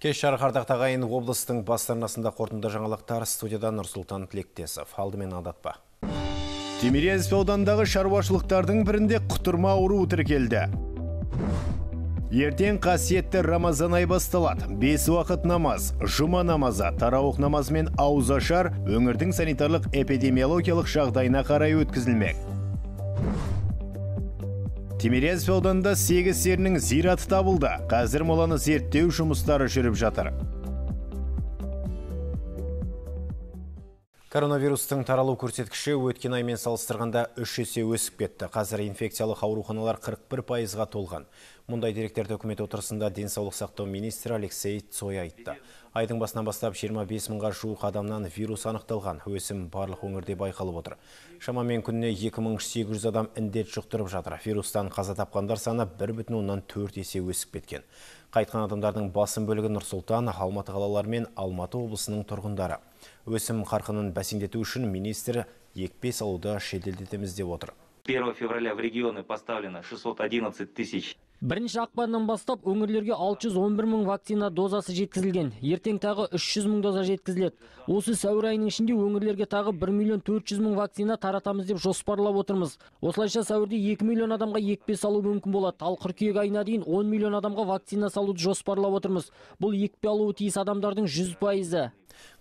Кеш жарық ардақтағайын облыстың бастарнасында қорытынды жаңалықтар, студияда Нұрсұлтан Тілектесов. Алдымен адатпа. Тимирязев ауданындағы шаруашылықтардың бірінде құтырма ауруы тіркелді. Ертең қасиетті Рамазан ай басталады. 5 уақыт намаз, жұма намазы, тарауық намазы мен ауызашар өңірдің санитарлық эпидемиологиялық жағдайына қарай өткізілмек. Тимирязев ауданында 8 серінің зираты табылды. Қазір моланы зерттеу жұмыстары жүріп жатыр. Коронавирустың таралу көрсеткіші өткен аймен салыстырғанда 3 есе өсіп кетті. Қазір инфекциялық ауруханалар 41%-ға толған. Мұндай деректерді үкімет отырысында денсаулық сақтау министрі Алексей Цой айтты. Айдың басынан бастап 25 мыңға жуық адамнан вирус анықталған. Өсім барлық өңірде байқалып отыр. Шамамен күніне 2800 адам індет жұқтырып жатыр. Вирустан қаза тапқандар саны 1,4 есе өсіп кеткен. Қайтқан адамдардың басым бөлігі Нұр-Сұлтан, Алматы қалалары мен Алматы облысының тұрғындары. Өсім қарқынын бәсеңдету үшін министр екпе салуды жеделдетеміз деп отыр. 1 февраля в регионы поставлено 611 тысяч. Бірінші ақпаннан бастап өңірлерге 611 мың вакцина дозасы жеткізілген. Ертең тағы 300 мың доза жеткізіледі. Осы сәуір айының ішінде өңірлерге тағы 1 миллион 400 мың вакцина таратамыз деп жоспарлап отырмыз. Осылайша сәуірде 2 миллион адамға екпе салу мүмкін болады. Ал қыркүйек айына дейін 10 миллион адамға вакцина салуды жоспарлап отырмыз. Бұл екпе алуы тиіс адамдардың 100%.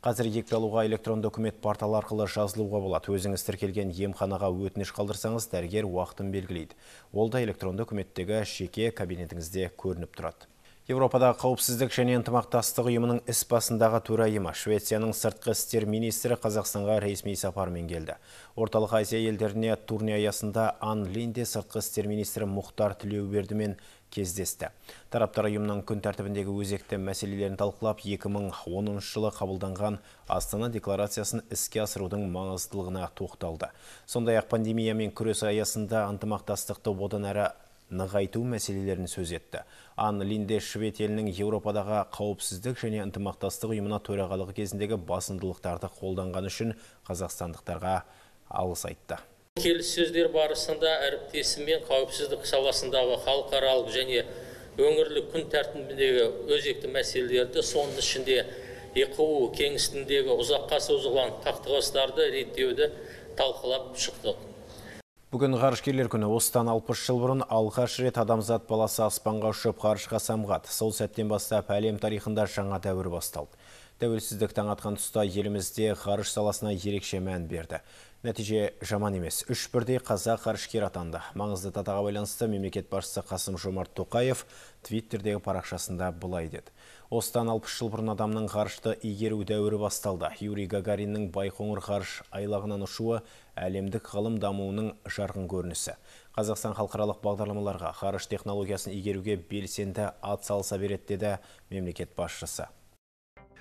Қазір екпе алуға электронды үкімет порталы арқылы жазылуға болады. Өзіңіз тіркелген емханаға өтініш қалдырсаңыз, дәрігер уақытын белгілейді. Ол да электронды үкіметтегі жеке кабинетіңізде көрініп тұрады. Европада қауіпсіздік және ынтымақтастық ұйымының іс басындағы төрайымы Швецияның сыртқы істер министрі Қазақстанға ресми сапармен келді. Орталық Азия елдеріне турне аясында Ан Линде сыртқы істер министрі Мұхтар Тілеубердімен кездесті. Тараптар ұйымның күн тәртібіндегі өзекті мәселелерін талқылап, 2010 жылы қабылданған Астана декларациясын іске асырудың маңыздылығына тоқталды. Сондай-ақ пандемиямен күрес аясында ынтымақтастықты одан әрі нығайту мәселелерін сөз етті. Ан Линде Швед елінің Еуропадағы қауіпсіздік және ынтымақтастық ұйымына төрағалығы кезіндегі басымдылықтарды қолданған үшін қазақстандықтарға алғыс айтты. Келіссөздер барысында әріптесімен қауіпсіздік саласындағы халықаралық және өңірлік күн тәртібіндегі өзекті мәселелерді, соның ішінде ЕқУ кеңістігіндегі ұзаққа созылған қақтығыстарды реттеуді талқылап шықтық. Бүгін ғарышкерлер күні. Осыдан 60 жыл бұрын алғаш рет адамзат баласы аспанға ұшып ғарышқа самғады. Сол сәттен бастап әлем тарихында жаңа дәуір басталды. Тәуелсіздік таң атқан тұста елімізде ғарыш саласына ерекше мән берді. Нәтиже жаман емес. 3 бірдей қазақ ғарышкер атанды. Маңызды датаға байланысты мемлекет басшысы Қасым-Жомарт Тоқаев Твиттердегі парақшасында былай деді. Осыдан 60 жыл бұрын адамның ғарышты игеру дәуірі басталды. Юрий Гагариннің Байқоңыр ғарыш айлағынан ұшуы әлемдік ғылым дамуының жарқын көрінісі. Қазақстан халықаралық бағдарламаларға ғарыш технологиясын игеруге белсенді ат салса береді деді мемлекет басшысы.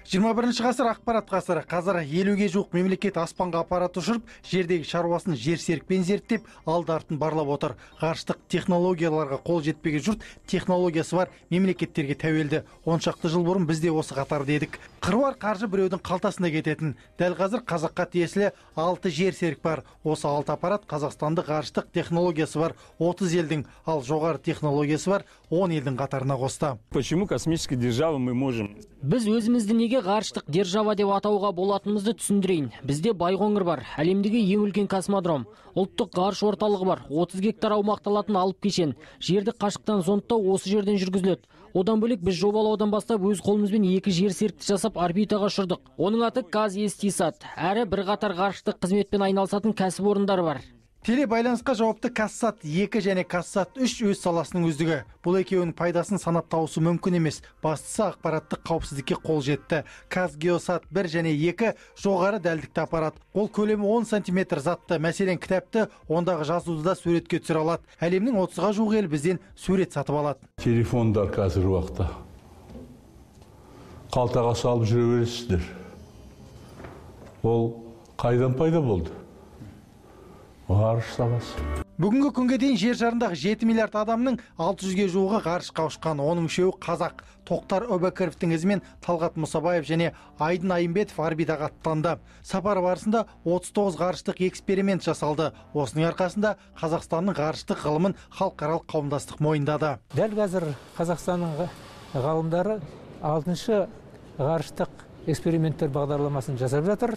21 ғасыр ақпарат ғасыры. Қазір 50-ге жуық мемлекет аспанға аппарат ұшырып, жердегі шаруасын жерсерікпен зерттеп, алды-артын барлап отыр. Ғарыштық технологияларға қол жетпеген жұрт технологиясы бар мемлекеттерге тәуелді. 10 шақты жыл бұрын біз де осы қатарда едік. Қыруар қаржы біреудің қалтасына кететін. Дәл қазір қазаққа тиесілі 6 жерсерік бар. Осы 6 аппарат қазақстандық ғарыштық технологиясы бар 30 елдің, ал жоғары технологиясы бар 10 елдің қатарына қосты. Почему космические державы мы можем? Біз өзімізді неге ғарыштық держава деп атауға болатынымызды түсіндірейін. Бізде Байқоңыр бар, әлемдегі ең үлкен космодром. Ұлттық ғарыш орталығы бар, 30 гектар аумақталатын алып кешен. Жерді қашықтан зондтау осы жерден жүргізіледі. Одан бөлек біз жобалаудан бастап өз қолымызбен 2 жерсерікті жасап орбитаға ұшырдық. Оның аты Казэстисат. Әрі бірқатар ғарыштық қызметпен айналысатын кәсіпорындар бар. Телебайланысқа жауапты Казсат 2 және Казсат 3 өз саласының үздігі. Бұл екеуінің пайдасын санап тауысы мүмкін емес. Бастысы ақпараттық қауіпсіздікке қол жетті. Казгеосат 1 және 2 жоғары дәлдікті аппарат. Ол көлемі 10 см затты. Мәселен, кітапты ондағы жазуды да суретке түсіре алады. Әлемнің 30-ға жуық ел бізден сурет сатып алады. Телефондар қазір уақытта қалтаға салып жүре бересіздер. Ол қайдан пайда болды? Ғарыш саласы. Бүгінгі күнге дейін жер шарындағы 7 миллиард адамның 600-ге жуығы ғарышқа ұшқан. Оның үшеуі қазақ. Тоқтар Өбәкіровтің ізімен Талғат Мұсабаев және Айдын Айымбетов орбитаға аттанды. Сапар барысында 39 ғарыштық эксперимент жасалды. Осының арқасында Қазақстанның ғарыштық ғылымын халықаралық қауымдастық мойындады. Дәл қазір Қазақстанның ғалымдары 6-шы ғарыштық эксперименттер бағдарламасын жасап жатыр.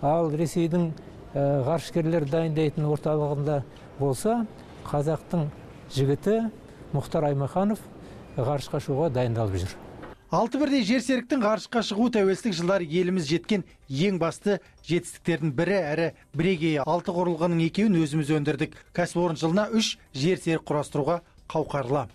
Ал Ресейдің ғарышкерлер дайындайтын орталығында болса, қазақтың жігіті Мұхтар Аймаханов ғарышқа шығуға дайындалып жүр. 6 бірдей жерсеріктің ғарышқа шығу тәуелсіздік жылдары еліміз жеткен ең басты жетістіктердің бірі әрі бірегейі. 6 құрылғының екеуін өзіміз өндірдік. Кәсіпорын жылына 3 жерсерік құрастыруға қауқарлы.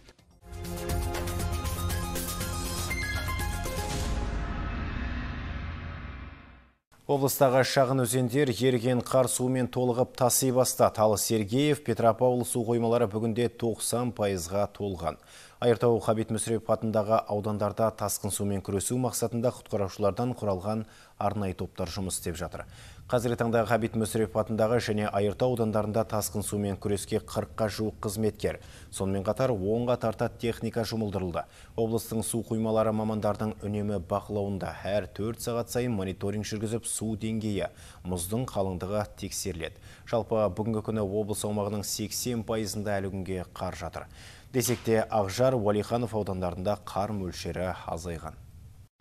Облыстағы шағын өзендер еріген қар суымен толығып таси бастады. Ал Сергеев, Петропавл су қоймалары бүгінде 90%-ға толған. Айыртау Ғабит Мүсірепов атындағы аудандарда тасқын сумен күресу мақсатында құтқарушылардан құралған арнайы топтар жұмыс істеп жатыр. Қазіргі таңда Ғабит Мүсірепов атындағы және Айыртау аудандарында тасқын сумен күреске 40-қа жуық қызметкер. Сонымен қатар 10-ға тарта техника жұмылдырылды. Облыстың су қоймалары мамандардың үнемі бақылауында. Әр 4 сағат сайын мониторинг жүргізіп, су деңгейі, мұздың қалыңдығы тексеріледі. Жалпы бүгінгі күні облыс аумағының 80%-ында әлі күнге қар жатыр. Десекте Ақжар, Уалиханов аудандарында қар мөлшері азайған.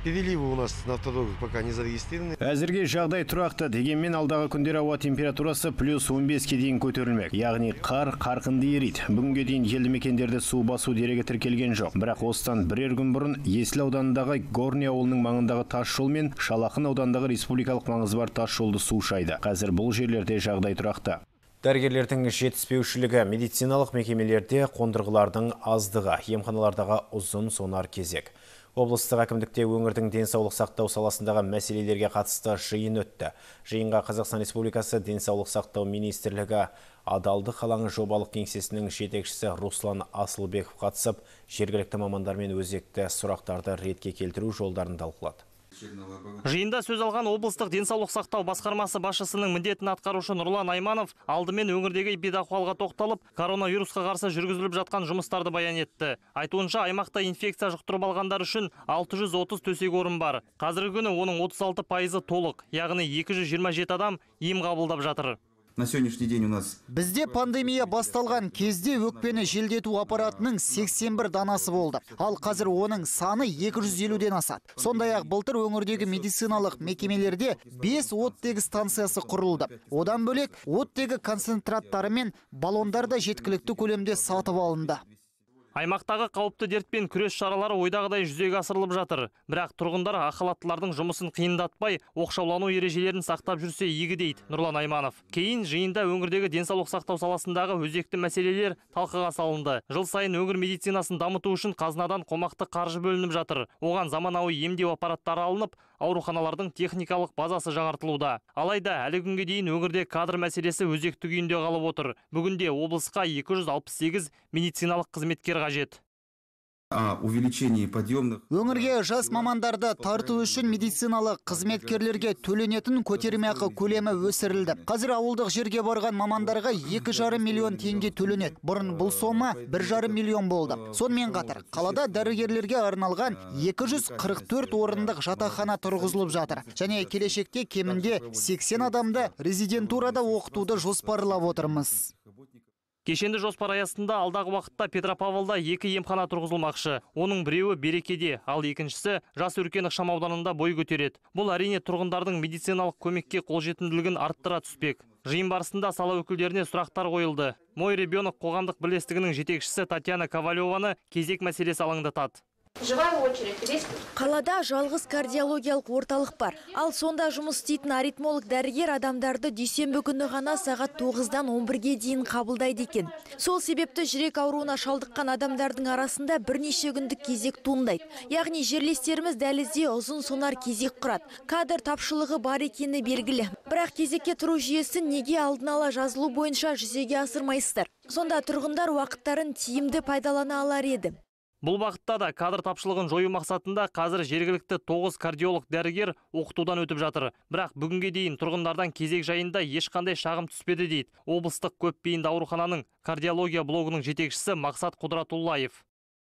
Переливы у нас на автодорогах пока не зарегистрированы. Әзірге жағдай тұрақты, дегенмен алдағы күндері ауа температурасы плюс 15-ке дейін көтерілмек. Яғни қар қарқынды ериді. Бүгінге дейін елді мекендерде су басу дерегі тіркелген жоқ. Бірақ осыдан бірер күн бұрын Есіл ауданындағы Горный ауылының маңындағы тас жол мен Шалақын ауданындағы республикалық маңызы бар тас жолды су шайды. Қазір бұл жерлерде жағдай тұрақты. Дәрігерлердің жетіспеушілігі, медициналық мекемелерде қондырғылардың аздығы, емханалардағы ұзын сонар кезек. Облыстық әкімдікте өңірдің денсаулық сақтау саласындағы мәселелерге қатысты жиын өтті. Жиынға Қазақстан Республикасы денсаулық сақтау министрлігі Адалдық алаңы жобалық кеңсесінің жетекшісі Руслан Асылбеков қатысып, жергілікті мамандармен өзекті сұрақтарды ретке келтіру жолдарын талқылады. Жиында сөз алған облыстық денсаулық сақтау басқармасы басшысының міндетін атқарушы Нұрлан Айманов алдымен өңірдегі эпидахуалға тоқталып, коронавирусқа қарсы жүргізіліп жатқан жұмыстарды баян етті. Айтуынша, аймақта инфекция жұқтырып алғандар үшін 630 төсек орын бар. Қазіргі күні оның 36% толық, яғни 227 адам ем қабылдап жатыр. На сегодняшний день у нас Бізде пандемия басталған кезде өкпені желдету аппаратының 81 данасы болды. Ал қазір оның саны 250-ден асады. Сондай-ақ былтыр өңірдегі медициналық мекемелерде 5 оттегі станциясы құрылды. Одан бөлек оттегі концентраттары мен баллондар да жеткілікті көлемде сатып алынды. Аймақтағы қауіпті дертпен күрес шаралары ойдағыдай жүзеге асырылып жатыр. Бірақ тұрғындар ақылаттылардың жұмысын қиындатпай, оқшаулану ережелерін сақтап жүрсе игі дейді Нұрлан Айманов. Кейін жиында өңірдегі денсаулық сақтау саласындағы өзекті мәселелер талқыға салынды. Жыл сайын өңір медицинасын дамыту үшін қазынадан қомақты қаржы бөлініп жатыр. Оған заманауи емдеу аппараттары алынып, ауруханалардың техникалық базасы жаңартылуда. Алайда әлі күнге дейін өңірде кадр мәселесі өзекті күйінде қалып отыр. Бүгінде облысқа 268 медициналық қызметкер қажет. Увеличение подъемных. Өңірге жас мамандарды тарту үшін медициналық қызметкерлерге төленетін көтермеақы көлемі өсірілді. Қазір ауылдық жерге барған мамандарға 2,5 миллион теңге төленеді. Бұрын бұл сома 1,5 миллион болды. Сонымен қатар, қалада дәрігерлерге арналған 244 орындық жатақхана тұрғызылып жатыр. Және келешекте кемінде 80 адамды резидентурада оқытуды жоспарлап отырмыз. Кешенді жоспар аясында алдағы уақытта Петропавлда 2 емхана тұрғызылмақшы. Оның біреуі Берекеде, ал екіншісі Жас Өркен ықшамауданында бой көтереді. Бұл әрине тұрғындардың медициналық көмекке қолжетімділігін арттыра түспек. Жиын барысында сала өкілдеріне сұрақтар қойылды. Мой ребенок қоғамдық бірлестігінің жетекшісі Татьяна Ковалеваны кезек мәселесі алаңдатады. Қалада жалғыз кардиологиялық орталық бар. Ал сонда жұмыс істейтін аритмолог дәрігер адамдарды дүйсенбі күні ғана сағат 9-дан 11-ге дейін қабылдайды екен. Сол себепті жүрек ауруына шалдыққан адамдардың арасында бірнеше күндік кезек туындайды. Яғни жерлестеріміз дәлізде ұзын сонар кезек құрады. Кадр тапшылығы бар екені белгілі. Бірақ кезекке тұру жүйесін неге алдын ала жазылу бойынша жүзеге асырмайсыздар? Сонда тұрғындар уақыттарын тиімді пайдалана алар еді. Бұл бағытта да кадр тапшылығын жою мақсатында қазір жергілікті 9 кардиолог дәрігер оқытудан өтіп жатыр. Бірақ бүгінге дейін тұрғындардан кезек жайында ешқандай шағым түспеді дейді облыстық көпбейінді аурухананың кардиология блогының жетекшісі Мақсат Құдратуллаев.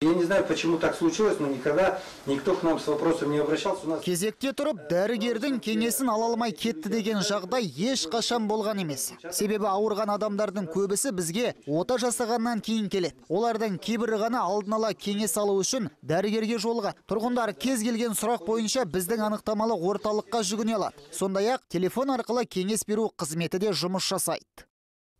Я не знаю, почему так случилось, но никогда никто к нам с вопросом не обращался. Кезекте тұрып, дәрігердің кеңесін ала алмай кетті деген жағдай еш қашан болған емес. Себебі ауырған адамдардың көбісі бізге ота жасағаннан кейін келеді. Олардан кейбірі ғана алдын ала кеңес алу үшін дәрігерге жолға. Тұрғындар кез келген сұрақ бойынша біздің анықтамалы орталыққа жүгіне алады. Сондай-ақ телефон арқылы кеңес беру қызметі де жұмыс жасайды.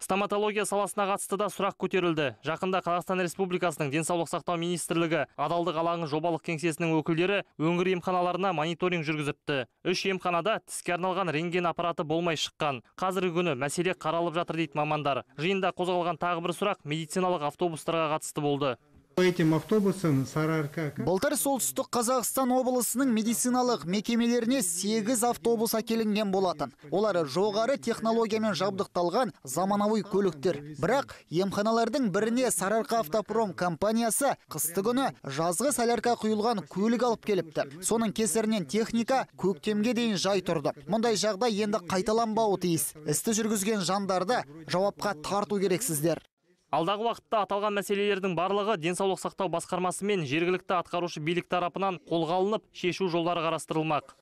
Стоматология саласына қатысты да сұрақ көтерілді. Жақында Қазақстан Республикасының денсаулық сақтау министрлігі адалдық алаңы жобалық кеңсесінің өкілдері өңір емханаларына мониторинг жүргізіпті. 3 емханада тіске арналған рентген аппараты болмай шыққан. Қазіргі күні мәселе қаралып жатыр дейді мамандар. Жиында қозғалған тағы бір сұрақ медициналық автобустарға қатысты болды. Этим автобусом Сарыарка. Былтыр солтүстік Қазақстан облысының медициналық мекемелеріне 8 автобус әкелінген болатын. Олар жоғары технологиямен жабдықталған заманауи көліктер. Бірақ емханалардың біріне Сарыарка автопром компаниясы қысты күні жазғы солярка құйылған көлік алып келіпті. Соның кесірінен техника көктемге дейін жай тұрды. Мұндай жағдай енді қайталанбауы тиіс. Істі жүргізген жандарды жауапқа тарту керексіздер. Алдағы уақытта аталған мәселелердің барлығы денсаулық сақтау басқармасы мен жергілікті атқарушы билік тарапынан қолға алынып, шешу жолдары қарастырылмақ.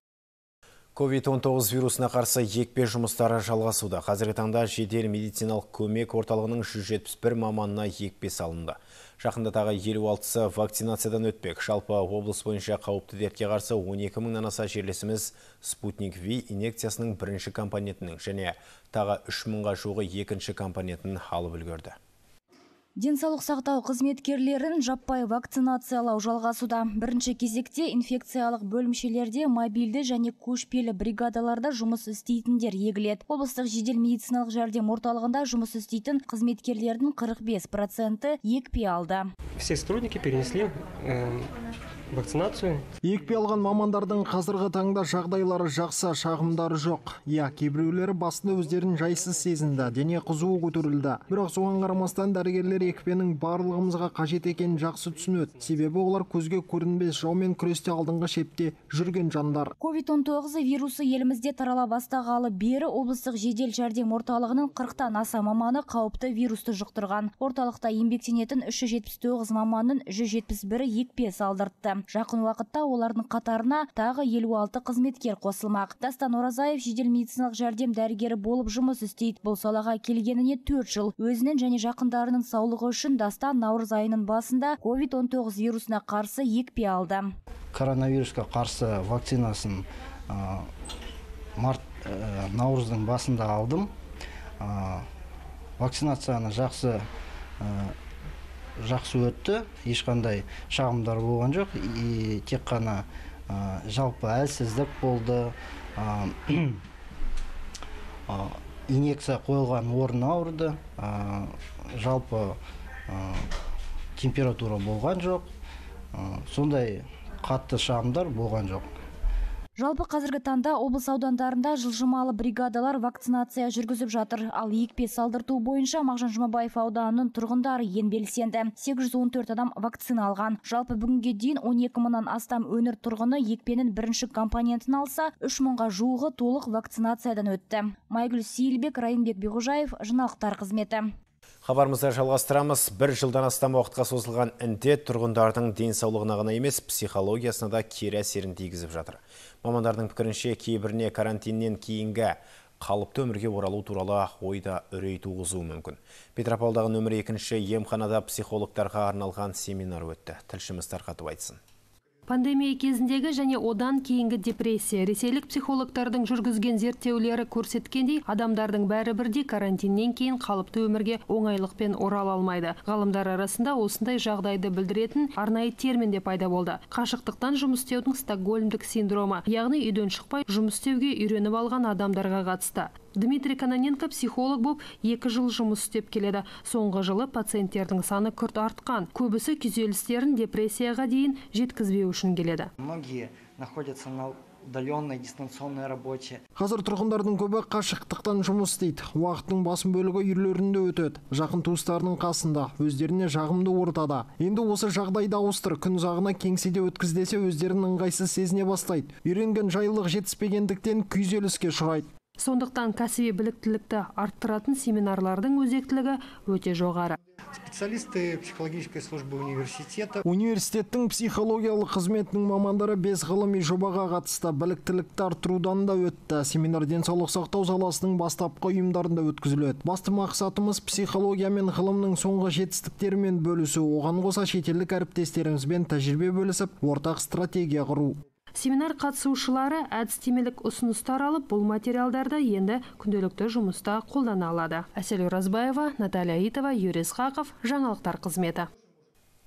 COVID-19 вирусына қарсы екпе жұмыстары жалғасуда. Қазіргі таңда жедел медициналық көмек орталығының 171 маманына екпе салынды. Жақында тағы 56-сы вакцинациядан өтпек. Жалпы облыс бойынша қауіпті дертке қарсы 12 мыңнан аса жерлесіміз Спутник V инъекциясының бірінші компонентінің және тағы 3 мыңға жуығы екінші компонентін алып үлгерді. Денсаулық сақтау қызметкерлерін жаппай вакцинациялау жалғасуда. Бірінші кезекте инфекциялық бөлімшелерде мобильді және көшпелі бригадаларда жұмыс істейтіндер егіледі. Облыстық жедел медициналық жәрдем орталығында жұмыс істейтін қызметкерлердің 45% екпе алды. Все сотрудники перенесли вакцинацию. Екпе алған мамандардың қазіргі таңда жағдайлары жақсы, шағымдары жоқ. Кейбіреулері басында өздерін жайсыз сезінді, дене қызуы көтерілді. Бірақ соған қарамастан дәрігерлер екпенің барлығымызға қажет екенін жақсы түсінеді. Себебі олар көзге көрінбес жаумен күресте алдыңғы шепте жүрген жандар. COVID-19 вирусы елімізде тарала бастағалы бері облыстық жедел жәрдем орталығының 40-тан аса маманы қауіпті вирусты жұқтырған. Орталықта еңбектенетін 379 маманның 171-і екпе салдыртты. Жақын уақытта олардың қатарына тағы 56 қызметкер қосылмақ. Дастан Оразаев жедел медициналық жәрдем дәрігері болып жұмыс істейді. Бұл салаға келгеніне 4 жыл. Өзінің және жақындарының саулығы үшін Дастан наурыз айының басында COVID-19 вирусына қарсы екпе алды. Коронавирусқа қарсы вакцинасын наурыздың басында алдым. Вакцинацияны жақсы өтті, ешқандай шағымдар болған жоқ, тек қана жалпы әлсіздік болды, инъекция қойылған орын ауырды, жалпы температура болған жоқ, сондай қатты шағымдар болған жоқ. Жалпы қазіргі таңда облыс аудандарында жылжымалы бригадалар вакцинация жүргізіп жатыр. Ал екпе салдырту бойынша Мағжан Жұмабаев ауданының тұрғындары ең белсенді. 814 адам вакцина алған. Жалпы бүгінге дейін 12 мыңнан астам өңір тұрғыны екпенің бірінші компонентін алса, 3 мыңға жуығы толық вакцинациядан өтті. Майгүл Сейілбек, Райымбек Беғожаев, жаңалықтар қызметі. Хабарымызды жалғастырамыз. Бір жылдан астам уақытқа созылған індет тұрғындардың денсаулығына ғана емес, психологиясына да кері әсерін тигізіп жатыр. Мамандардың пікірінше кейбіріне карантиннен кейінгі қалыпты өмірге оралу туралы ойда үрей туғызуы мүмкін. Петропавлдағы нөмір 2-ші емханада психологтарға арналған семинар өтті. Тілшіміз тарқатып айтсын. Пандемия кезіндегі және одан кейінгі депрессия. Ресейлік психологтардың жүргізген зерттеулері көрсеткендей, адамдардың бәрі бірдей карантиннен кейін қалыпты өмірге оңайлықпен орала алмайды. Ғалымдар арасында осындай жағдайды білдіретін арнайы термин де пайда болды. Қашықтықтан жұмыс істеудің стокгольмдік синдромы, яғни үйден шықпай жұмыс істеуге үйреніп алған адамдарға қатысты. Дмитрий Кононенко психолог болып 2 жыл жұмыс істеп келеді. Соңғы жылы пациенттердің саны күрт артқан. Көбісі күйзелістерін депрессияға дейін жеткізбеу үшін келеді. Многие находятся на удаленной дистанционной работе. Қазір тұрғындардың көбі қашықтықтан жұмыс істейді. Уақыттың басым бөлігі үйлерінде өтеді. Жақын туыстарының қасында, өздеріне жағымды ортада. Енді осы жағдайды ауыстыр, күн ұзағына кеңседе өткіздесе өздерінің ыңғайсыз сезіне бастайды. Үйренген жайлылық жетіспегендіктен күйзеліске ұшырайды. Сондықтан кәсіби біліктілікті арттыратын семинарлардың өзектілігі өте жоғары. специалисты психологической службы университета. Университеттің психологиялық қызметінің мамандары 5 ғылыми жобаға қатысты, біліктілікті арттырудан да өтті. Семинар денсаулық сақтау саласының бастапқы ұйымдарында өткізіледі. Басты мақсатымыз психология мен ғылымның соңғы жетістіктерімен бөлісу, оған қоса шетелдік әріптестерімізбен тәжірибе бөлісіп, ортақ стратегия құру. Семинар қатысушылары әдістемелік ұсыныстар алып, бұл материалдарды енді күнделікті жұмыста қолдана алады. Әсел Оразбаева, Наталья Итова, Юрий Исхақов, жаңалықтар қызметі.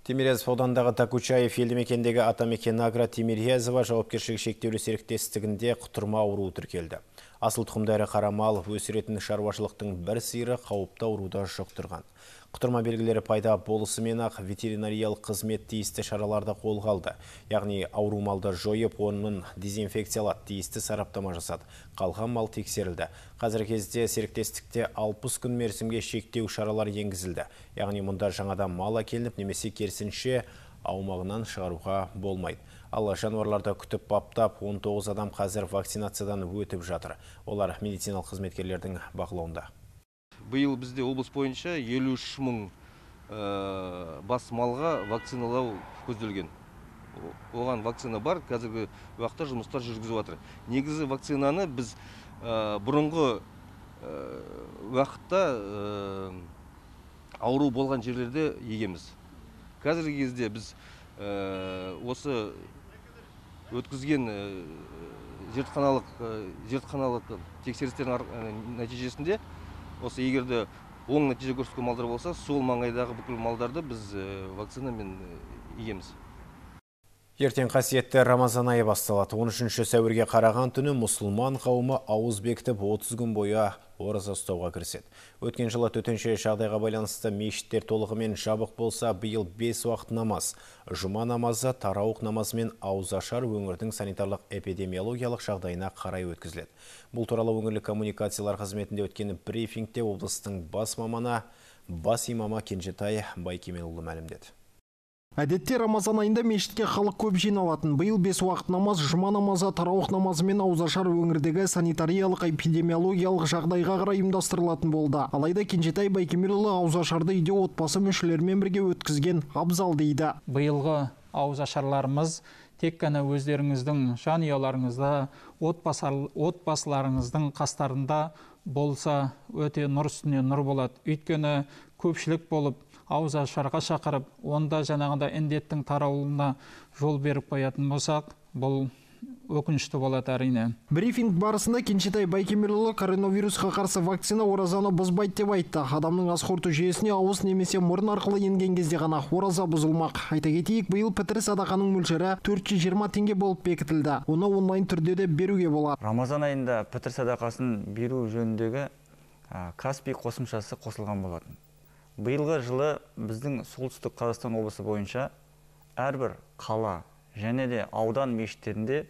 Тимирязев аудандағы Такучаев елді мекендегі Атамекен Агро Тимирязева жауапкершілігі шектеулі серіктестігінде құтырма ауруы тіркелді. Асыл тұқымдары қарамал өсіретін шаруашылықтың бір сиыры қауіпті ауруда жұқтырған. Құтырма белгілері пайда болысымен-ақ ветеринариялық қызмет тиісті шараларды қолға алды. Яғни ауру малды жойып, оның дезинфекциялады, тиісті сараптама жасады. Қалған мал тексерілді. Қазіргі кезде серіктестікте 60 күн мерзімге шектеу шаралар енгізілді. Яғни мұнда жаңадан мал әкелініп, немесе керісінше аумағынан шығаруға болмайды. Ал жануарларды күтіп баптап, 19 адам қазір вакцинациядан өтіп жатыр. Олар медициналық қызметкерлердің бақылауында. Биыл бізде облыс бойынша 53 мың бас малға вакциналау көзделген. Оған вакцина бар, қазіргі уақытта жұмыстар жүргізіп жатыр. Негізі вакцинаны біз бұрынғы уақытта ауру болған жерлерде егеміз. Қазіргі кезде біз осы өткізген зертханалық тексерістердің нәтижесінде осы егерде оң нәтиже көрсеткен малдар болса, сол маңайдағы бүкіл малдарды біз вакцинамен егеміз. Ертең қасиетті Рамазан айы басталады. 13 сәуірге қараған түні мұсылман қауымы ауыз бекітіп 30 күн бойы ораза ұстауға кіріседі. Өткен жылы төтенше жағдайға байланысты мешіттер толығымен жабық болса, биыл 5 уақыт намаз, жұма намазы, тарауық намазы мен ауызашар өңірдің санитарлық эпидемиологиялық жағдайына қарай өткізіледі. Бұл туралы өңірлік коммуникациялар қызметінде өткен брифингте облыстың бас имамы Кенжетай Байкемелұлы мәлімдеді. Әдетте Рамазан айында мешітке халық көп жиналатын. Биыл 5 уақыт намаз, жұма намазы, тарауық намазы мен ауызашар өңірдегі санитариялық эпидемиологиялық жағдайға қарай ұйымдастырылатын болды. Алайда Кенжетай Байкемелұлы ауызашарды үйде отбасы мүшелерімен бірге өткізген абзал дейді. Биылғы ауызашарларымыз тек қана өздеріңіздің жанұяларыңызда, отбасыларыңыздың қастарында болса, өте нұр үстіне нұр болады. Өйткені көпшілік болып ауызашарға шақырып, онда жаңағында індеттің таралуына жол беріп қоятын болсақ, бұл өкінішті болады әрине. Брифинг барысында Кенжетай Байкемелұлы коронавирусқа қарсы вакцина оразаны бұзбайды деп айтты. Адамның ас қорыту жүйесіне ауыз немесе мұрын арқылы енген кезде ғана ораза бұзылмақ. Айта кетейік, биыл пітір садақаның мөлшері 420 теңге болып бекітілді. Оны онлайн түрде де беруге болады. Рамазан айында пітір садақасын беру жөніндегі Каспий қосымшасы қосылған болатын. Биылғы жылы біздің солтүстік Қазақстан облысы бойынша әрбір қала және де аудан мешіттерінде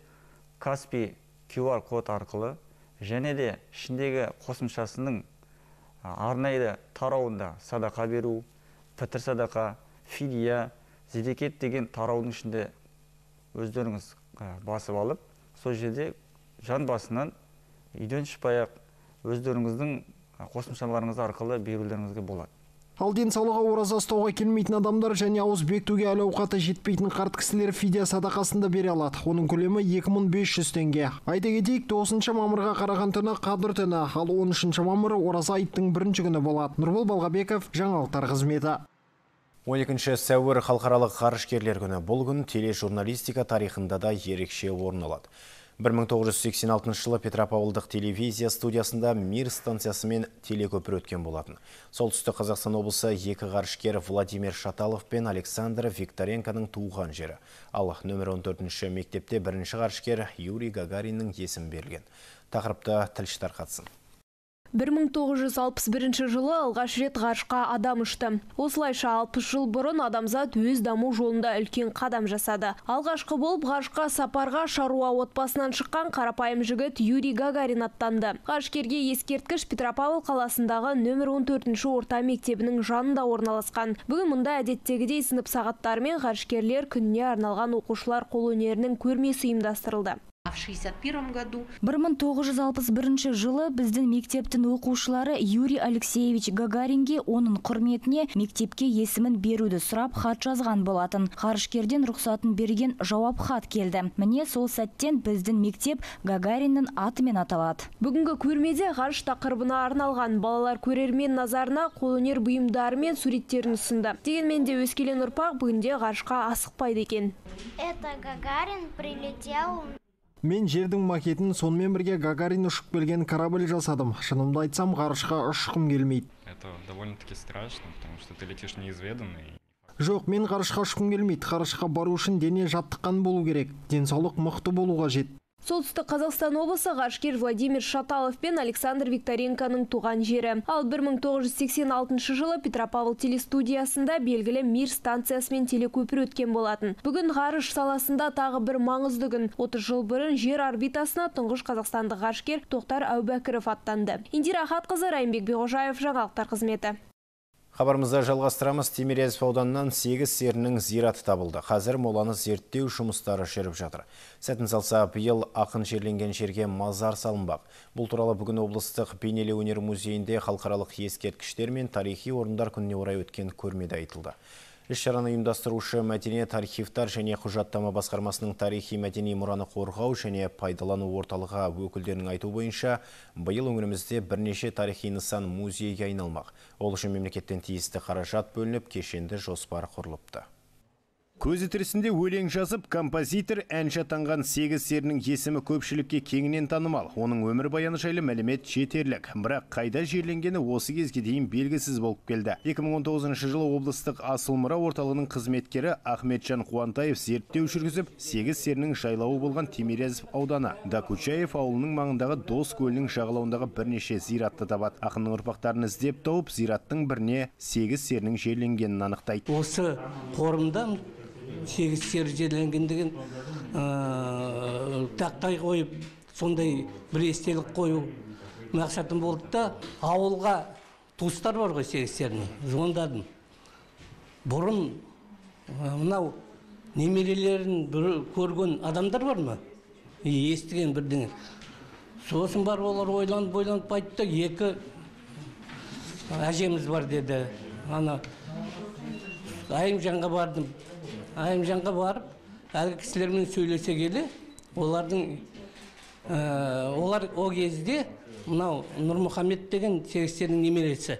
Каспий QR код арқылы және де ішіндегі қосымшасының арнайы тарауында садақа беру, пітір садақа, фидия, зекет деген тараудың ішінде өздеріңіз басып алып, сол жерде жан басынан үйден шықпай-ақ өздеріңіздің қосымшаларыңыз арқылы берулеріңізге болады. Ал денсаулығы ораза ұстауға келмейтін адамдар және ауыз бекітуге әл ауқаты жетпейтін қарт кісілер фидия садақасында бере алады. Оның көлемі 2500 теңге. Айта кетейік, 9 мамырға қараған түні Қадір түні, ал 13 мамыры ораза айттың бірінші күні болады. Нұрбол Балғабеков, жаңалықтар қызметі. 12 сәуір халықаралық ғарышкерлер күні. Бұл күн тележурналистика тарихында да ерекше орын алады. 1986 жылы Петропавлдық телевизия студиясында Мир станциясы мен телекөпір өткен болатын. Солтүстік Қазақстан облысы екі ғарышкер Владимир Шаталов пен Александр Викторенконың туған жері. Ал нөмір 14-ші мектепте бірінші ғарышкер Юрий Гагариннің есімі берілген. Тақырыпта тілші тарқатсын. 1961 жылы алғаш рет ғарышқа адам ұшты. Осылайша 60 жыл бұрын адамзат өз даму жолында үлкен қадам жасады. Алғашқы болып ғарышқа сапарға шаруа отбасынан шыққан қарапайым жігіт Юрий Гагарин аттанды. Ғарышкерге ескерткіш Петропавл қаласындағы нөмір 14-ші орта мектебінің жанында орналасқан. Бүгін мұнда әдеттегідей сынып сағаттарымен ғарышкерлер күніне арналған оқушылар қолөнерінің көрмесі ұйымдастырылды. В 1961 году 1961 жылы біздің мектептің оқушылары Юрий Алексеевич Гагаринге оның құрметіне мектепке есімін беруді сұрап хат жазған болатын. Ғарышкерден рұқсатын берген жауап хат келді. Міне сол сәттен біздің мектеп Гагариннің атымен аталады. Бүгінгі көрмеде ғарыш тақырыбына арналған балалар көрермен назарына қолөнер бұйымдары мен суреттерін ұсынды. Дегенмен де өскелең ұрпақ бүгінде ғарышқа асықпайды екен. Это Гагарин прилетел. Мен жердің макетін сонымен бірге Гагарин ұшып келген корабль жасадым. Шынымды айтсам, ғарышқа ұшқым келмейді. Это довольно-таки страшно, потому что ты летишь неизведанный. Жоқ, мен ғарышқа ұшқым келмейді. Ғарышқа бару үшін дене жаттыққан болу керек. Денсаулық мықты болу қажет. Солтүстік Қазақстан облысы ғарышкер Владимир Шаталов пен Александр Викторенконың туған жері. Ал 1986 жылы Петропавл телестудиясында белгілі Мир станциясымен телекөпір өткен болатын. Бүгін ғарыш саласында тағы бір маңызды күн. 30 жыл бұрын жер орбитасына тұңғыш қазақстандық ғарышкер Тоқтар Әубәкіров аттанды. Индира Хатқызы, Райымбек Беғожаев, жаңалықтар қызметі. Хабарымызды жалғастырамыз. Тимирязев ауданынан 8 серінің зираты табылды. Қазір моланы зерттеу жұмыстары жүріп жатыр. Сәтін салса, биыл ақын жерленген жерге мазар салынбақ. Бұл туралы бүгін облыстық бейнелеу өнер музейінде халықаралық ескерткіштер мен тарихи орындар күніне орай өткен көрмеде айтылды. Іс-шараны ұйымдастырушы мәдениет архивтар және құжаттама басқармасының тарихи мәдени мұраны қорғау және пайдалану орталығы өкілдерінің айту бойынша, биыл өңірімізде бірнеше тарихи нысан музейге айналмақ. Ол үшін мемлекеттен тиісті қаражат бөлініп, кешенді жоспар құрылыпты. Көзі тірісінде өлең жазып, композитор әнші атанған 8 серінің есімі көпшілікке кеңінен танымал. Оның өмір баяны жайлы мәлімет жетерлік. Бірақ қайда жерленгені осы кезге дейін белгісіз болып келді. 2019 жылы облыстық Асыл мұра орталығының қызметкері Ахметжан Қуантаев зерттеу жүргізіп, 8 серінің жайлауы болған Тимирязев ауданы Докучаев ауылының маңындағы Дос көлінің жағалауындағы бірнеше зиратты табады. Ақынның ұрпақтарын іздеп тауып, зираттың біріне 8 серінің жерленгенін анықтайды. Осы қорымда 8 сер жерленгендігін тақтай қойып, сондай бір естелік қою мақсатым болды да, ауылға туыстар бар ғой 8 серінің, звондадым. Бұрын мынау немерелерін көрген адамдар бар ма? Естіген бірдеңе. Сосын бар, олар ойланып айтты, 2 әжеміз бар деді. Айымжанға бардым. Айымжанға барып, әлгі кісілермен сөйлесе келе, олар о кезде мынау Нұрмұхамед деген 8 серінің немересі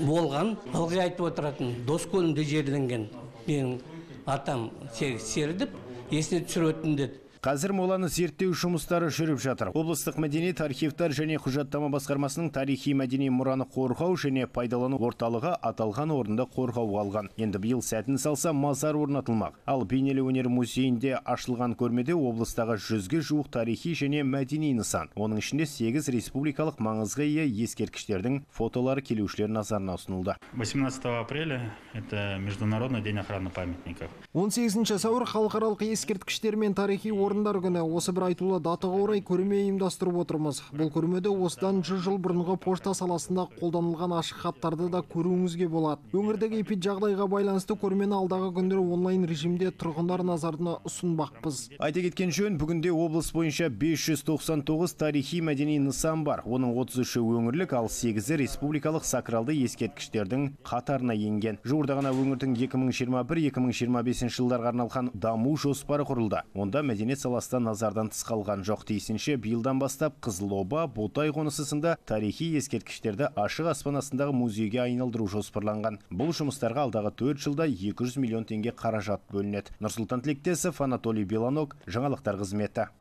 болған. Ылғи айтып отыратын, Дос көлінде жерленген менің атам 8 сері деп есіне түсіретін деді. Қазір моланы зерттеу жұмыстары жүріп жатыр. Облыстық мәдениет архивтар және құжаттама басқармасының тарихи мәдени мұраны қорғау және пайдалану орталығы аталған орында қорғауға алған. Енді биыл сәтін салса мазар орнатылмақ. Ал бейнелеу өнер музейінде ашылған көрмеде облыстағы 100-ге жуық тарихи және мәдени нысан. Оның ішінде 8 республикалық маңызға ие ескерткіштердің фотолары келушілер назарына ұсынылды. 18 апреля это Международный день охраны памятников. 18 сәуір халықаралық ескерткіштер мен тарихи орындар күні. Осы бір айтулы датаға орай көрме ұйымдастырып отырмыз. Бұл көрмеде осыдан 100 жыл бұрынғы пошта саласында қолданылған ашық хаттарды да көруіңізге болады. Өңірдегі эпиджағдайға байланысты көрмені алдағы күндері онлайн режимде тұрғындар назарына ұсынбақпыз. Айта кеткен жөн, бүгінде облыс бойынша 599 тарихи мәдени нысан бар. Оның 33-і өңірлік, ал 8-і республикалық сакралды ескерткіштердің қатарына енген. Жуырда ғана өңірдің 2021-2025 жылдарға арналған даму жоспары құрылды. Онда мәдениет саласында назардан тыс қалған жоқ. Тиісінше биылдан бастап Қызылоба, Ботай қонысы сынды тарихи ескерткіштерді ашық аспан астындағы музейге айналдыру жоспарланған. Бұл жұмыстарға алдағы 4 жылда 200 миллион теңге қаражат бөлінеді. Нұрсұлтан Тілектесов, Анатолий Беланок, жаңалықтар қызметі.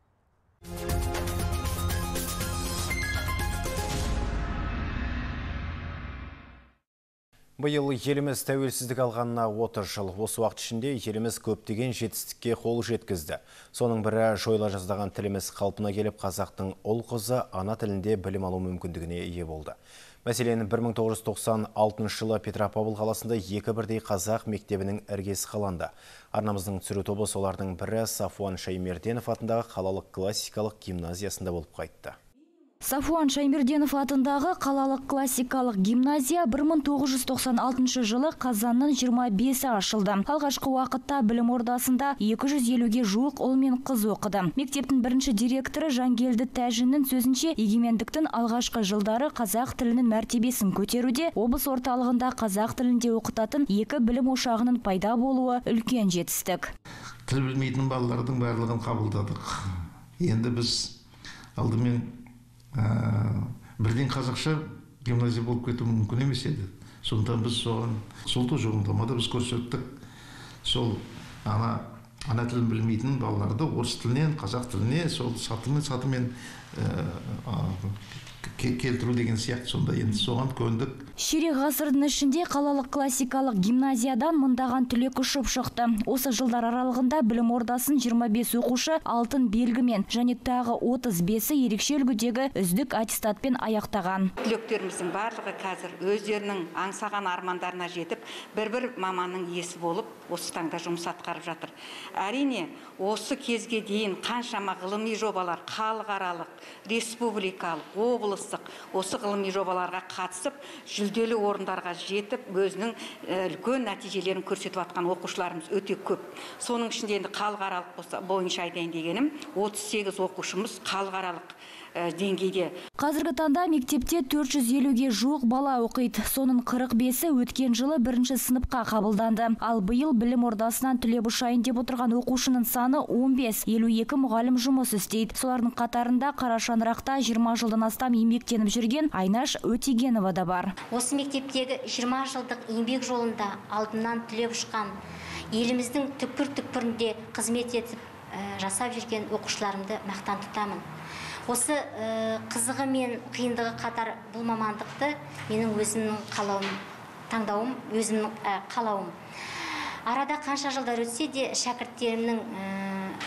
Биыл еліміз тәуелсіздік алғанына 30 жыл. Осы уақыт ішінде еліміз көптеген жетістікке қол жеткізді. Соның бірі жойыла жаздаған тіліміз қалпына келіп, қазақтың ұл қызы ана тілінде білім алу мүмкіндігіне ие болды. Мәселен, 1996 жылы Петропавл қаласында 2 бірдей қазақ мектебінің іргесі қаланды. Арнамыздың түсіру тобы солардың бірі Сафуан Шаймерденов атындағы қалалық классикалық гимназиясында болып қайтты. Сафуан Шаймерденов атындағы қалалық классикалық гимназия 1996 жылы қазанның 25-і ашылды. Алғашқы уақытта білім ордасында 250-ге жуық ұл мен қыз оқыды. Мектептің бірінші директоры Жангелді Тәжіннің сөзінше, егемендіктің алғашқы жылдары қазақ тілінің мәртебесін көтеруде, облыс орталығында қазақ тілінде оқытатын 2 білім ошағының пайда болуы үлкен жетістік. Тіл білмейтін балалардың барлығын қабылдадық. Енді біз алдымен бірден қазақша гимназия болып кету мүмкін емес еді. Сондықтан біз соған сол тұжырымдамада біз көрсеттік. Сол ана тілін білмейтін балаларды орыс тілінен қазақ тіліне сол сатымен келтіру деген сияқты, сонда енді соған көндік. Ширек ғасырдың ішінде қалалық классикалық гимназиядан мыңдаған түлек ұшып шықты. Осы жылдар аралығында білім ордасын 25 оқушы алтын белгімен және тағы 35-і ерекше үлгідегі үздік аттестатпен аяқтаған. Түлектеріміздің барлығы қазір өздерінің аңсаған армандарына жетіп, бір маманның иесі болып, осы таңда жұмыс атқарып жатыр. Әрине, осы кезге дейін қаншама ғылыми жобалар, халықаралық, республикалық, облыстық осы ғылыми жобаларға қатысып, жүлделі орындарға жетіп, өзінің үлкен нәтижелерін көрсетіп атқан оқушыларымыз өте көп. Соның ішінде енді халықаралық бойынша айтайын дегенім, 38 оқушымыз халықаралық деңгейде. Қазіргі таңда мектепте 450-ге жуық бала оқиды. Соның 45-і өткен жылы 1-ші сыныпқа қабылданды. Ал биыл білім ордасынан түлеп ұшайын деп отырған оқушының саны 15, 52 мұғалім жұмыс істейді. Солардың қатарында Қарашаңырақта 20 жылдан астам еңбектеніп жүрген Айнаш Өтегенова да бар. Осы мектептегі 20 жылдық еңбек жолында алдымнан түлеп ұшқан, еліміздің түкпір-түкпірінде қызмет етіп жасап жүрген оқушыларымды мақтан тұтамын. Осы қызығы мен қиындығы қатар бұл мамандықты менің өзімнің таңдауым, өзімнің қалауым. Арада қанша жылдар өтсе де шәкірттерімнің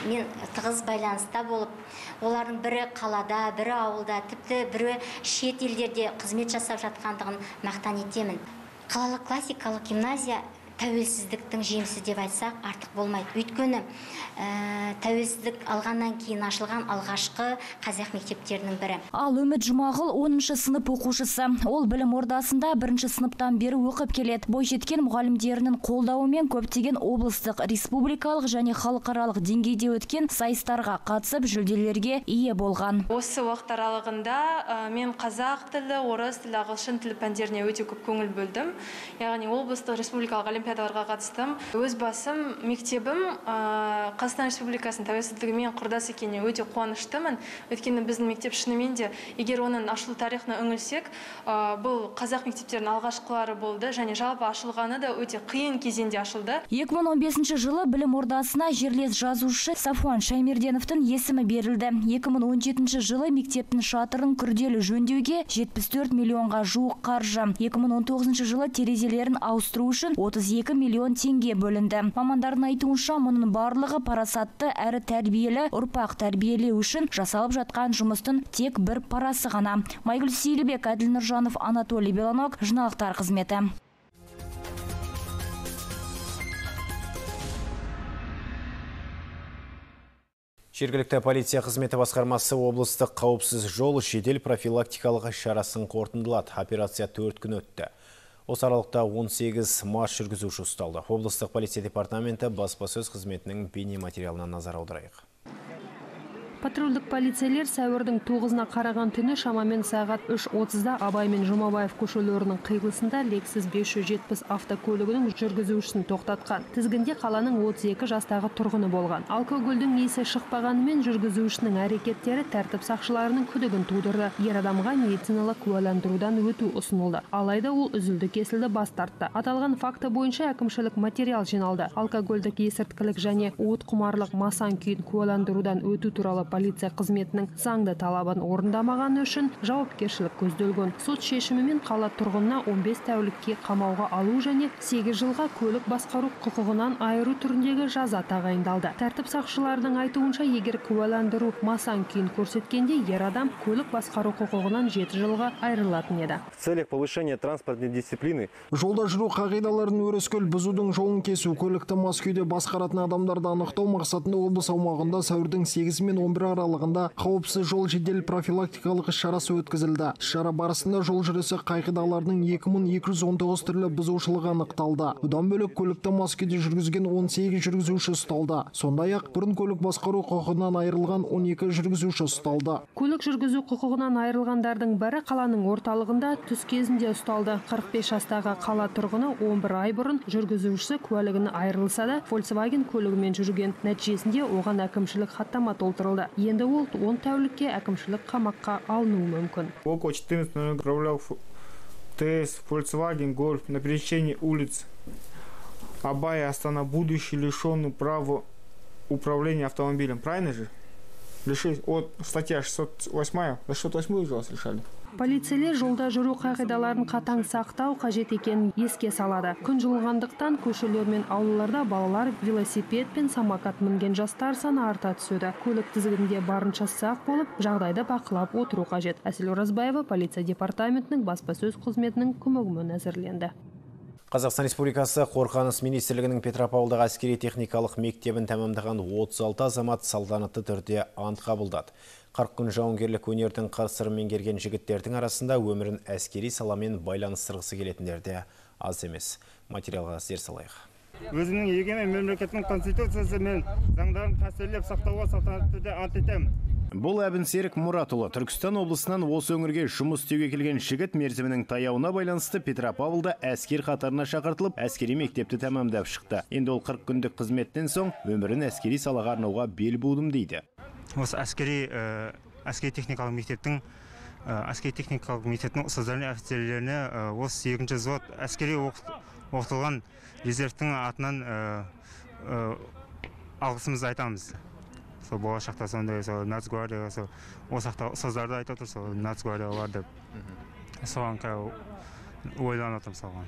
мен тығыз байланыста болып, олардың бірі қалада, бірі ауылда, тіпті бірі шет елдерде қызмет жасап жатқандығын мақтан етемін. Қалалық классикалық гимназия тәуелсіздіктің жемісі деп айтсақ артық болмайды. Өйткені тәуелсіздік алғаннан кейін ашылған алғашқы қазақ мектептерінің бірі. Ал Үміт Жұмағұл 10-шы сынып оқушысы. Ол білім ордасында 1-ші сыныптан бері оқып келеді. Бойжеткен мұғалімдерінің қолдауымен көптеген облыстық, республикалық және халықаралық деңгейде өткен сайыстарға қатысып жүлделерге ие болған. Осы уақыт аралығында мен қазақ тілі, орыс тілі, ағылшын тілі пәндеріне өте көп көңіл бөлдім. Яғни облыстық, республикалық олимпиадаларға қатыстым. Өз басым, мектебім Қазақстан Республикасының тәуелсіздігімен құрдас екеніне өте қуаныштымын. Өйткені біздің мектеп шынымен де, егер оның ашылу тарихына үңілсек, бұл қазақ мектептерінің алғашқылары болды және жалпы ашылғаны да өте қиын кезеңде ашылды. 2015 жылы білім ордасына жерлес жазушы Сафуан Шаймерденовтың есімі берілді. 2017 жылы мектептің шатырын күрделі жөндеуге 74 миллионға жуық қаржы. 2019 жылы терезелерін ауыстыру үшін 32 миллион теңге бөлінді. Мамандардың айтуынша мұның барлығы парасатты әрі тәрбиелі ұрпақ тәрбиелеу үшін жасалып жатқан жұмыстың тек бір парасы ғана. Майгүл Сейлібек, Әділ Нұржанов, Анатолий Белонок, жаңалықтар қызметі. Жергілікті полиция қызметі басқармасы облыстық қауіпсіз жол жедел профилактикалық шарасын қорытындылады. Операция 4 күн өтті. Осы аралықта 18 мас жүргізуші ұсталды. Облыстық полиция департаменті баспасөз қызметінің бейне материалына назар аударайық. Патрульдік полицейлер сәуірдің 9-на қараған түні шамамен сағат 3:30-да Абай мен Жұмабаев көшелерінің қиылысында Lexus 570 автокөлігінің жүргізушісін тоқтатқан. Тізгінде қаланың 32 жастағы тұрғыны болған. Алкогольдің есі шықпағанымен жүргізушінің әрекеттері тәртіп сақшыларының күдігін тудырды. Ер адамға медициналық куәландырудан өту ұсынылды. Алайда ол үзілді-кесілді бас тартты. Аталған факті бойынша әкімшілік материал жиналды. Алкогольдік есірткілік және уытқұмарлық масан күйін куәландырудан өту туралы полиция қызметінің заңды талабын орындамағаны үшін жауапкершілік көзделген. Сот шешімімен қала тұрғынына 15 тәулікке қамауға алу және 8 жылға көлік басқару құқығынан айыру түріндегі жаза тағайындалды. Тәртіп сақшыларының айтуынша, егер куәландыру масан күйін көрсеткенде, ер адам көлік басқару құқығынан 7 жылға айырылатын еді. В целях повышения транспортной дисциплины жолда жүру қағидаларын өрескел бұзудың жолын кесу, көлікті мас күйде басқаратын адамдарды анықтау мақсатында облыс аумағында сәуірдің 8 мен 11 аралығында қауіпсіз жол жедел профилактикалық іс-шарасы өткізілді. Шара барысында жол жүрісі қағидаларының 2219 түрлі бұзушылығы анықталды. Бұдан бөлек көлікті мас күйде жүргізген 18 жүргізуші ұсталды. Сондай-ақ бұрын көлік басқару құқығынан айырылған 12 жүргізуші ұсталды. Көлік жүргізу құқығынан айырылғандардың бірі қаланың орталығында түс кезінде ұсталды. 45 жастағы қала тұрғыны 11 ай бұрын жүргізушісі куәлігін айырылса да, Volkswagen көлігімен жүрген. Нәтижесінде оған әкімшілік хаттама толтырылды. Енді ол 10 тәулікке әкімшілік қамаққа алынуы мүмкін. Около 14 управлял ТС Volkswagen Golf на пересечении улиц Абая Астана, будущий лишенный права управления автомобилем. Правильно же? Лишить от статья 608, за 608 уже вас решали. Полицейлер жолда жүру қағидаларын қатаң сақтау қажет екенін еске салады. Күн жылынғандықтан көшелер мен аулаларда балалар велосипед пен самокат мінген жастар саны арта түседі. Көлік тізгінінде барынша сақ болып, жағдайды бақылап отыру қажет. Әсел Оразбаева полиция департаментінің баспасөз қызметінің көмегімен әзірленді. Қазақстан Республикасы Қорғаныс министрлігінің Петропавлдағы әскери техникалық мектебін тәмамдаған 36 азамат салтанатты түрде ант қабылдады. 40 күн жауынгерлік өнердің қыр-сырын меңгерген жігіттердің арасында өмірін әскери саламен байланыстырғысы келетіндер де аз емес. Материалға зер салайық. Өзімнің егемен мемлекеттің конституциясы мен заңдарын қастерлеп сақтауға салтанатты түрде ант етемін. Бұл Әбінсерік Мұратұлы Түркістан облысынан осы өңірге жұмыс істеуге келген жігіт мерзімінің таяуына байланысты Петропавлда әскер қатарына шақыртылып, әскери мектепті тәмамдап шықты. Енді ол 40 күндік қызметтен соң өмірін әскери салаға арнауға бел будым дейді. Осы әскери техникалық мектептің ұстаздарына, офицерлеріне осы 2-ші взвод әскери оқытылған резервтің атынан алғысымызды айтамыз. Сол болашақта сондай Нацгвардия, осы сақта ұстаздарды айтып отыр, сол Нацгвардия бар деп. Соған ойланып отырмын соған.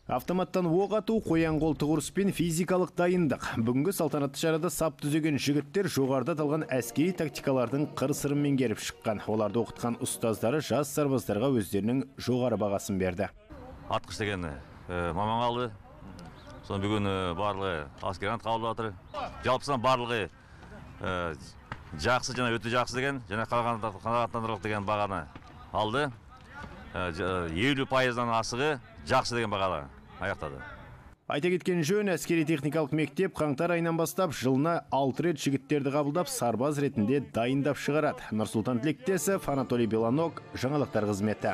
Автоматтан оқ ату, қоян қол тұғырыс пен физикалық дайындық. Бүгінгі салтанатты шарада сап түзеген жігіттер жоғарыда аталған әскери тактикалардың қыр-сырын меңгеріп шыққан. Оларды оқытқан ұстаздары жас сарбаздарға өздерінің жоғары бағасын берді. Атқыш деген маман алды. Соны бүгін барлығы аскер ант қабылдап жатыр. Жалпысынан барлығы жақсы, және өте жақсы деген, және қанағаттандырылық деген бағаны алды. 50%-дан асығы жақсы деген бағалы аяқтады. Айта кеткен жөн, әскери техникалық мектеп қаңтар айынан бастап жылына 6 рет жігіттерді қабылдап сарбаз ретінде дайындап шығарады. Нұрсұлтан Тілектесов, Анатолий Беланок, жаңалықтар қызметі.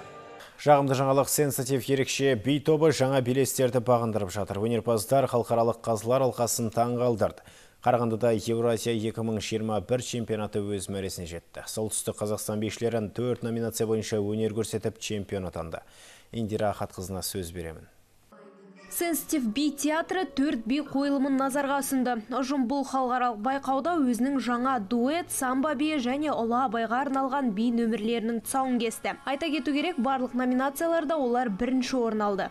Жағымды жаңалық сенсатив ерекше би тобы жаңа белестерді бағындырып жатыр. Өнерпаздар халықаралық қазылар алқасын таң қалдырды. Қарағандыда Евразия 2021 чемпионаты өз мәресіне жетті. Солтүстік Қазақстан бишілерін 4 номинация бойынша өнер көрсетіп чемпион атанды. Индира Ахатқызына сөз беремін. Сенситив би театры 4 би қойылымын назарға ұсынды. Ұжым бұл халықаралық байқауда өзінің жаңа дуэт, самба би және ұлы абайға арналған би нөмірлерінің тұсауын кесті. Айта кету керек, барлық номинацияларда олар бірінші орын алды.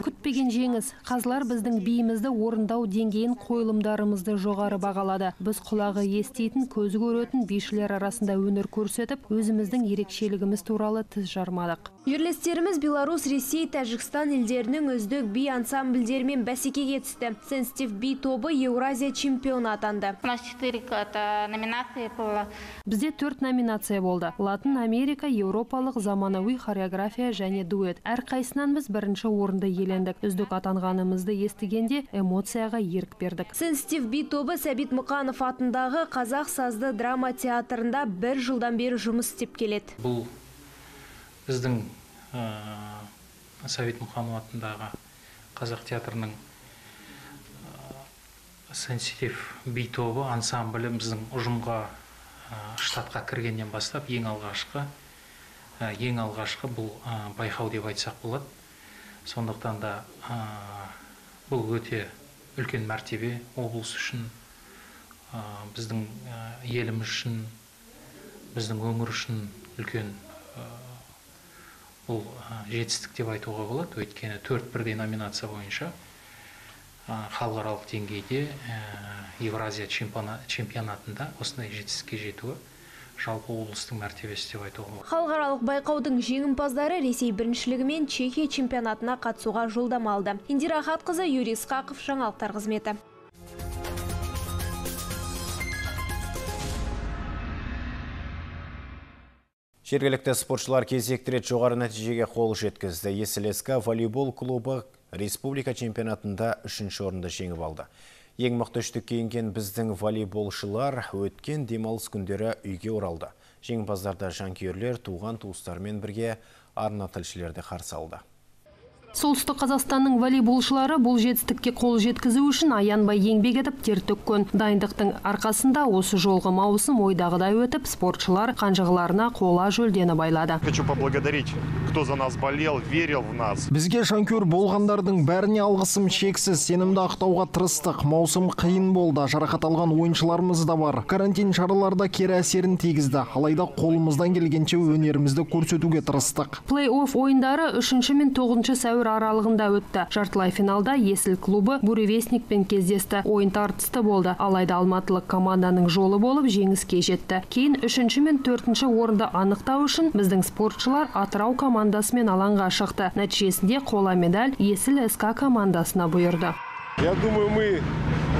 Күтпеген жеңіс. Қазылар біздің биімізді орындау деңгейін, қойылымдарымызды жоғары бағалады. Біз құлағы естейтін, көзі көретін бишілер арасында өнер көрсетіп, өзіміздің ерекшелігіміз туралы тіс жармадық. Жерлестеріміз Беларусь, Ресей, Тәжікстан елдерінің үздік би ансамбльдерімен бәсекеге түсті. Сенситив би тобы Еуразия чемпионы атанды. Бізде 4 номинация болды. Латын Америка, Еуропалық, заманауи хореография және дуэт. Әрқайсынан біз бірінші орынды иелендік. Үздік атанғанымызды естігенде эмоцияға ерік бердік. Сенситив би тобы Сәбит Мұқанов атындағы Қазақ сазды драма театрында 1 жылдан бері жұмыс істеп келеді. Бұл біздің Сәбит Мұқанов атындағы Қазақ театрының сенситив би тобы ансамблі біздің ұжымға штатқа кіргеннен бастап ең алғашқы бұл байқау деп айтсақ болады. Сондықтан да бұл өте үлкен мәртебе облыс үшін, біздің еліміз үшін, біздің өңір үшін үлкен бұл жетістік деп айтуға болады. Өйткені 4 бірдей номинация бойынша халықаралық деңгейде Евразия чемпионатында осындай жетістікке жетуі жалпы облыстың мәртебесі деп айтуға болады. Халықаралық байқаудың жеңімпаздары Ресей біріншілігі мен Чехия чемпионатына қатысуға жолдама алды. Индира Ахатқызы, Юрий Исқақов, жаңалықтар қызметі. Жергілікті спортшылар кезекті рет жоғары нәтижеге қол жеткізді. Есіл СК волейбол клубы республика чемпионатында 3-ші орынды жеңіп алды. Ең мықты үштікке енген біздің волейболшылар өткен демалыс күндері үйге оралды. Жеңімпаздарды жанкүйерлер туған туыстармен бірге арна тілшілерді қарсы алды. Солтүстік Қазақстанның волейболшылары бұл жетістікке қол жеткізу үшін аянбай еңбек етіп тер төккен. Дайындықтың арқасында осы жолғы маусым ойдағыдай өтіп, спортшылар қанжығаларына қола жүлдені байлады. Хочу поблагодарить, кто за нас болел, верил в нас. Бізге жанкүйер болғандардың бәріне алғысым шексіз, сенімді ақтауға тырыстық. Маусым қиын болды, жарақат алған ойыншыларымыз да бар. Карантин шараларда кері әсерін тигізді. Алайда қолымыздан келгенше өнерімізді көрсетуге тырыстық. Плей-офф ойындары 3 мен 9 сәуір аралығында өтті. Жартылай финалда Есіл клубы Буревестникпен кездесті. Ойын тартысты болды. Алайда алматылық команданың жолы болып жеңіске жетті. Кейін 3 мен 4 орынды анықтау үшін біздің спортшылар Атырау командасымен алаңға шықты. Нәтижесінде қола медаль Есіл СК командасына бұйырды. Я думаю, мы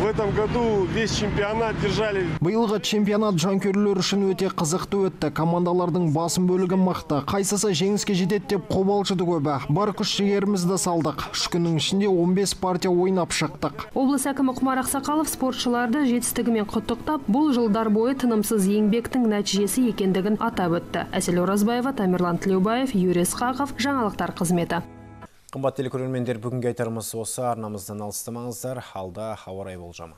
в этом году весь чемпионат держали. Биылғы чемпионат жанкүйерлер үшін өте қызықты өтті. Командалардың басым бөлігі мықты. Қайсысы жеңіске жетеді деп қобалжыды көбі. Бар күш-жігерімізді салдық. 3 күннің ішінде 15 партия ойнап шықтық. Облыс әкімі Құмар Ақсақалов спортшыларды жетістігімен құттықтап, бұл жылдар бойы тынымсыз еңбектің нәтижесі екендігін атап өтті. Әсел Оразбаева, Тамерлан Тілеубаев, Юрий Исқақов, жаңалықтар қызметі. Қымбат телекөрермендер, бүгінгі айтарымыз осы. Арнамыздан алыстамаңыздар. Алда ауа райы болжамы.